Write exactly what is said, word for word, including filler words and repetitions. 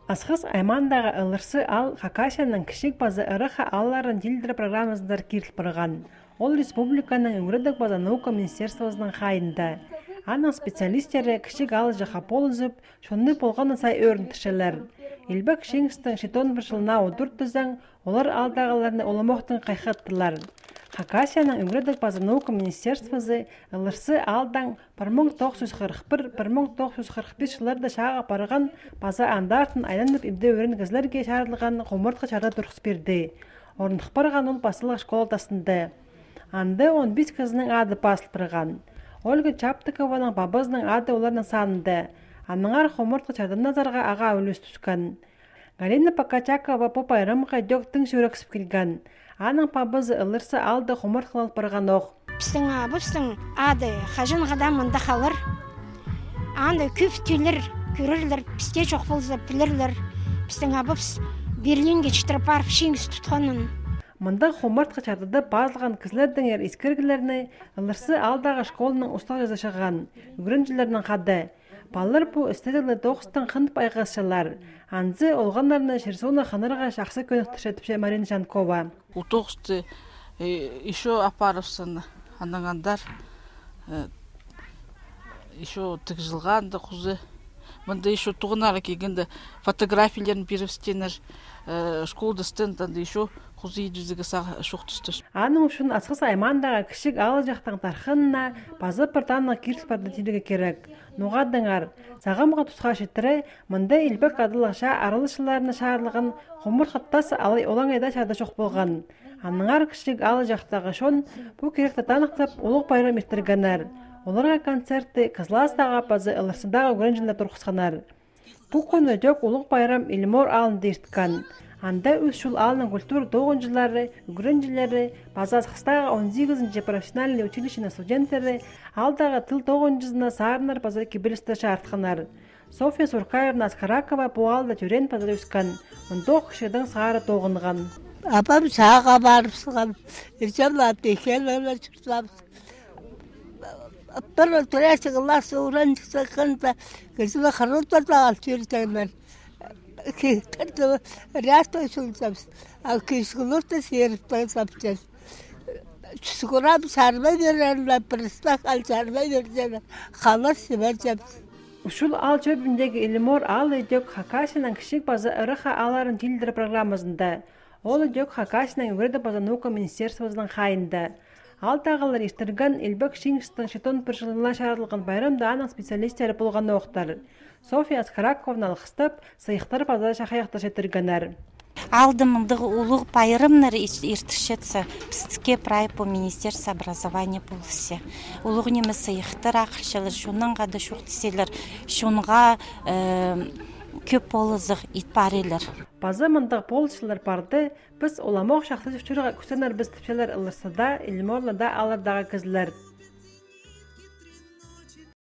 Асхыс аймаандағы Ылырсы аал Хакасияның кічіг паза ырах аалларын тилідер программазынзар киріл парған. Ол республиканың ӱгредіг паза наука министерствозының хайиинда. Аның специалистері кічіг аалҷахха полызып, чонны полғаны сай ӧріндірчелер. Илбек Чиңістің читон пір чылына удур тізең, олар аалдағыларны уламохтаң хайхаттылар. Хакасияның ӱгредіг паза наука министерствозы Ылырсы аалдаң пір муң тоғыс чӱс хырых пір, пір муң тоғыс чӱс хырых пис чылларда чағып парған паза андар артын айланып ибде ӧрінген кізілерге чарыдылған хумартхы чарды турғыс пирді. Орных парған ол пасталығ школа тастында. Анда он пис кізінің ады пазыл парған. Ольга Чаптыкованың пабазының ады оларның санында. Аннаңар хумартхы чардыназарға ағаа ӱлӱс тӱскен. Галина Покачакова пу пайрамға ідӧк тың чӱрексіп килген. Аның пабазы Ылырсы аалда хумартхы ла парғанох. Пістің абыстың ады хаҷанға даа мында халар. Анда кӧп тӧлер, кӧрерлер, пісте чох полза, пілерлер. Пістің абыс Берлинге читіре парып, Чиңіс тутханын. Мында хумартхы чардыда пазылған кізілердеңер искіріглерні Ылырсы аалдағы школаның устағҷызы чыған, ӱгренҷілернең хада. Палалар пу істезігліг тоғыстаң хынып айғасчалар. Анзы олғаннарны чир-суунға хынарға чахсы кӧніктірче, тіпче Марина Чанкова. Ол тоғысты, э, ещё апарыбызын, анаң андар, э, ещё тігҷілген анда хоза. Мында ещё тоғынарға килгенде фотографияларын пирібістеннер, э, школада стенд анда ещё хоза иди чӱзеге сағаа чоохтастыр. Аның ӱчӱн Асхыс аймаандағы кічіг аалҷахтың тархынына паза пір танығ киріл парды тирге кирек. Ноға адаңар, сағамғы тусха читіре мында илбек адалығ чаа араласчыларына чарылған хумартхы тас алай олаңай даа чарда чох полған. Аннаңар кічіг аалҷахтағы чон пу киректі таныхтап, улуғ пайрам иртіргеннер. Оларға концертті Кызластағы паза Ылырсыдағы ӱгренҷілер турғысханнар. Пу кӱн ідӧк улуғ пайрам Илимор аалында ирткен. Анда Ӱс Чул аалның культура тоғынҷылары, ӱгренҷілері паза Асхыстағы он сигізінҷі профессиональный училищенің студенттері аалдағы тіл тоғынҷызына сарыннар паза кибелістер чарытханнар. Софья Суркаевна Аскаракова пу аалда тӧреен паза ӧскен, мындох кічігдең сығара тоғынған. Апам сағаа парыбысхан, іҷем ла пехенала чуртабыс. Пір третий класс ӱгренҷізі хынза, кізіні хырылтырда ал чӧрҷеңнер. Кирді рястай чулзабыс. А кӱскілерді сиріп тайзапчабыс. Чӱскӱрап чарбай пирерлер, пірістек ал чарбай пирерлер. Халас сиберҷебіс. Ӱс Чул аал чӧбіндегі Илимор аалы ідӧк Хакасияның кічіг паза ырах аалларын тилідер программазында. Ол ідӧк Хакасияның ӱгредіг паза наука министерствозының хайиинда. Аалдағылар иртірген Илбек Чиңістің читон пір чылына чарыдылған пайрамда аның специалистері полғанохтар. Софья Аскаракованы алғыстап, сыйыхтар паза чахайахтар читіргеннер. Аалда мындағ улуғ пайрамнар ир-, иртірчетсе, пістікке прай пу министерство образования полысча. Улуғ ниме сыйыхтар ахчалар, чоннаң хада чоохтасчалар, чонға, э, кӧп полызығ ит парчалар. Паза мындағ полысчылар парды, піс уламох чахсы чуртирға кӱстенербіс, тіпчелер Ылырсыда, Илиморда ааллардағы кізілер.